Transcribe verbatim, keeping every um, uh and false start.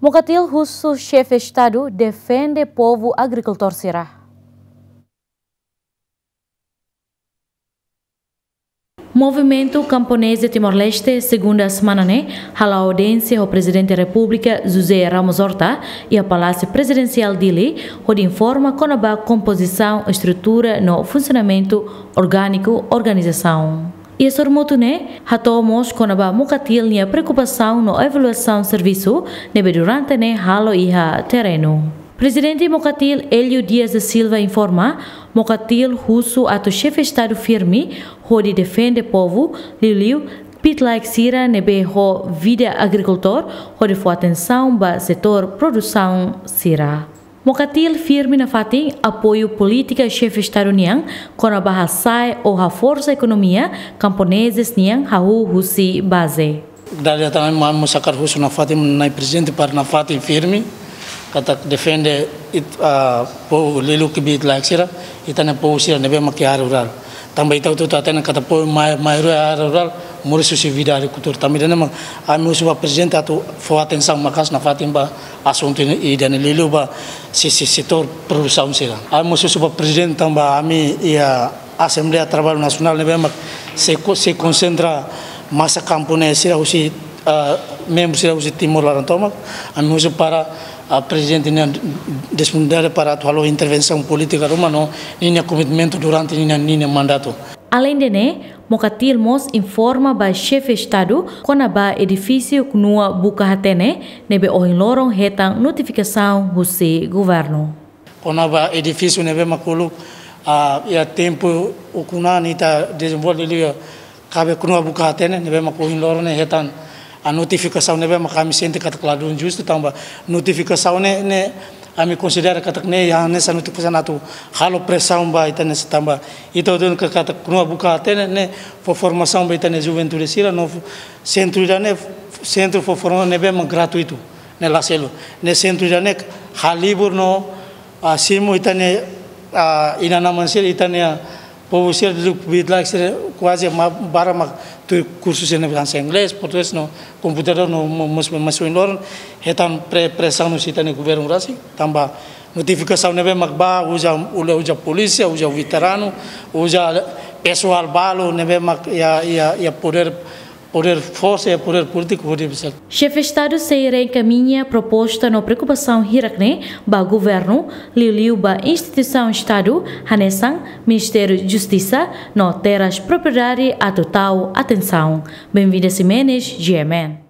Mokatil husu Xefe Estadu defende povu agrikultór sira. Movimentu Kamponez de Timor-Leste, segunda semana ne'e, hala'o audiénsia ho Prezidente Repúblika José Ramos Horta iha Palásiu Prezidensiál Dili, hodi informa kona-ba kompozisaun, estrutura no funsionamentu orgániku organizasaun. Iha sorumutu ne'e, hato'o mós kona-ba Mokatil nia preokupasaun no avaliasaun servisu ne'ebé durante ne'e halo iha terrenu. Prezidente Mokatil Hélio Dias da Silva informa, Mokatil husu atu Xefe Estadu firme hodi defende povu, liuliu kbiit-laek sira ne'ebé ho vida agrikultór, hodi fó atensaun ba setór produsaun sira. Mokatil firme nafatin apoiu polítika Xefe Estadu nian kona-ba hasa'e ou haforsa ekonomia kamponezes nian hahú husi baze. Dala ida tan ami mós hakarak husu nafatin Na'i Prezidente para nafatin firme, katak defende ita, ah, povu liuliu kbiit-laek sira, ita-nia povu sira ne'ebé mak iha área rurál. Tanba ita hotu hatene katak povu mai-, maioria área rurál moris husi vida agrikultór. Tanba ida-ne'e mak ami husu ba Prezidente atu fó atensaun maka'as nafatin ba asuntu ida-ne'e, liuliu ba se-, se-, setór produsaun sira. Ami mós husu ba Prezidente tanba ami iha Asembleia Traballu Nasionál ne'ebé mak sei ko-, sei konsentra masa kamponez sira husi, ah, membru sira husi Timor laran tomak. Ami husu para, ah, Prezidente nian disponibilidade para atu halo intervensaun polítika ruma no ninia komitmentu durante ninia, ninia mandatu. Aleinde ne'e, Mokatil mós informa ba Xefe Estadu kona-ba edifísiu Knua Buka Hatene ne'ebé ohin loron hetan notifikasaun husi governu. Kona-ba edifísiu ne'ebé mak uluk, ah, iha tempu ukun an ita dezenvolve liu iha kaben Knua Buka Hatene ne'ebé mak ohin loron ne'e hetan, ah, notifikasaun ne'ebé mak ami sente katak ladún justu tanba notifikasaun ne'e, ne'e ami konsidera katak ne'e hanesan notifikasaun atu halo presaun ba ita-nia sentru tanba ita hatene katak Knua Buka Hatene ne'e fó formasaun ba ita-nia juventude sira no sentru ida-ne'e sentru fó formasaun ne'ebé mak gratuitu, ne'e la selu. Ne'e sentru ida-ne'e halibur no, ah, simu ita-nia, ah, inan-aman sira, ita-nia povu sira liuliu kbiit-laek sira kuaze ma-, barak mak tuir kursu sira ne'ebé hanesan inglés, portugés no komputadór no mo-, mós, mós ohin loron hetan pre-, presaun husi ita-nia governu rasik, tanba notifikasaun ne'ebé mak bá uza, uza polísia, uza veteranu, uza pesoál balu ne'ebé mak iha, iha, iha podér, podér forsa, iha podér polítiku, podér bisa. Xefe Estadu sei reenkamiña proposta no preokupasaun hirak-ne'e ba governu, liuliu ba instituisaun Estadu, hanesan Ministériu Justisa no Terras Propriedade atu tau atensaun. Benvinda Ximenes, G M N.